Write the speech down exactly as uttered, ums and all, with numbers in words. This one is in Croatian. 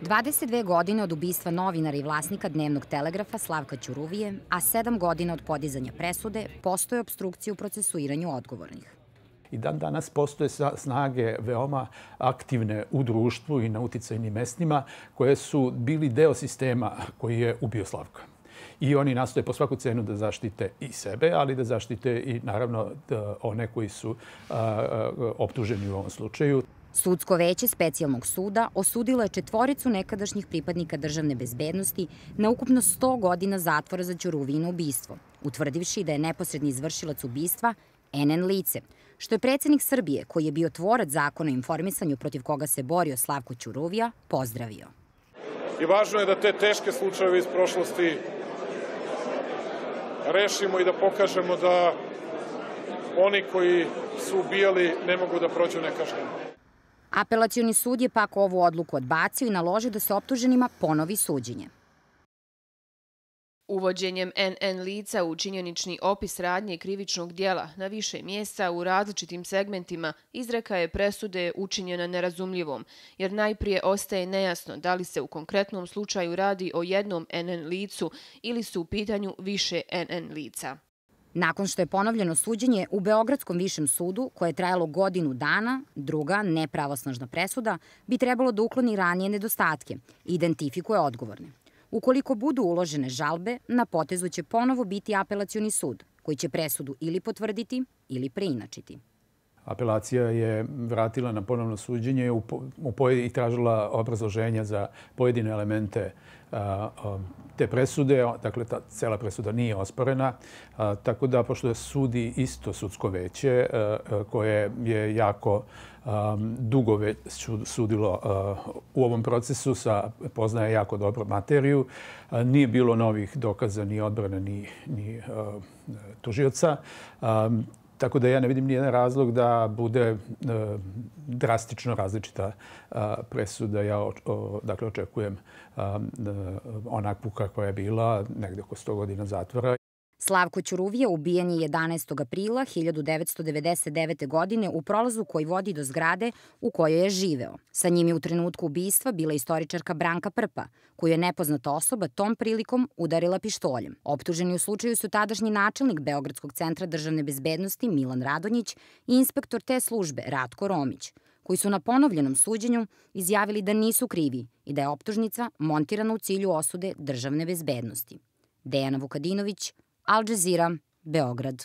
dvadeset dve godine od ubistva novinara i vlasnika Dnevnog telegrafa Slavka Ćuruvije, a sedam godina od podizanja presude, postoje opstrukcije u procesuiranju odgovornih. I dan danas postoje snage veoma aktivne u društvu i na uticajnim mestima koje su bili deo sistema koji je ubio Slavka. I oni nastoje po svaku cenu da zaštite i sebe, ali da zaštite i naravno one koji su optuženi u ovom slučaju. Sudsko veće specijalnog suda osudilo je četvoricu nekadašnjih pripadnika državne bezbednosti na ukupno sto godina zatvora za Ćuruvijino ubistvo, utvrdivši da je neposredni izvršilac ubistva en en lice, što je predsjednik Srbije, koji je bio tvorac zakona o informisanju protiv koga se borio Slavko Ćuruvija, pozdravio. I važno je da te teške slučajeve iz prošlosti rešimo i da pokažemo da oni koji su ubijali ne mogu da prođu nekažnjeno. Apelacioni sud je pak ovu odluku odbacio i naložio da se optuženima ponovi suđenje. Uvođenjem en en lica u činjenični opis radnje krivičnog dijela na više mjesta u različitim segmentima izreka je presude učinjena nerazumljivom, jer najprije ostaje nejasno da li se u konkretnom slučaju radi o jednom en en licu ili su u pitanju više en en lica. Nakon što je ponovljeno suđenje u Beogradskom višem sudu, koje je trajalo godinu dana, druga, nepravosnažna presuda, bi trebalo da ukloni ranije nedostatke i identifikuje odgovorne. Ukoliko budu uložene žalbe, na potezu će ponovo biti apelacioni sud, koji će presudu ili potvrditi ili preinačiti. Apelacija je vratila na ponovno suđenje i tražila obrazloženja za pojedine elemente te presude. Dakle, ta cela presuda nije osporena. Tako da, pošto sudi isto sudsko veće, koje je jako dugo već sudilo u ovom procesu, poznaje jako dobro materiju, nije bilo novih dokaza ni odbrane ni tužioca. Tako da ja ne vidim nijedan razlog da bude drastično različita presuda. Ja dakle očekujem onakvu kakva je bila, negde oko sto godina zatvora. Slavko Ćuruvija ubijen je jedanaestog aprila hiljadu devetsto devedeset devete. godine u prolazu koji vodi do zgrade u kojoj je živeo. Sa njim je u trenutku ubistva bila istoričarka Branka Prpa, koju je nepoznata osoba tom prilikom udarila pištoljem. Optuženi u slučaju su tadašnji načelnik Beogradskog centra državne bezbednosti Milan Radonjić i inspektor te službe Ratko Romić, koji su na ponovljenom suđenju izjavili da nisu krivi i da je optužnica montirana u cilju osude državne bezbednosti. Dejana Vukadinović, Al Jazeera, Beograd.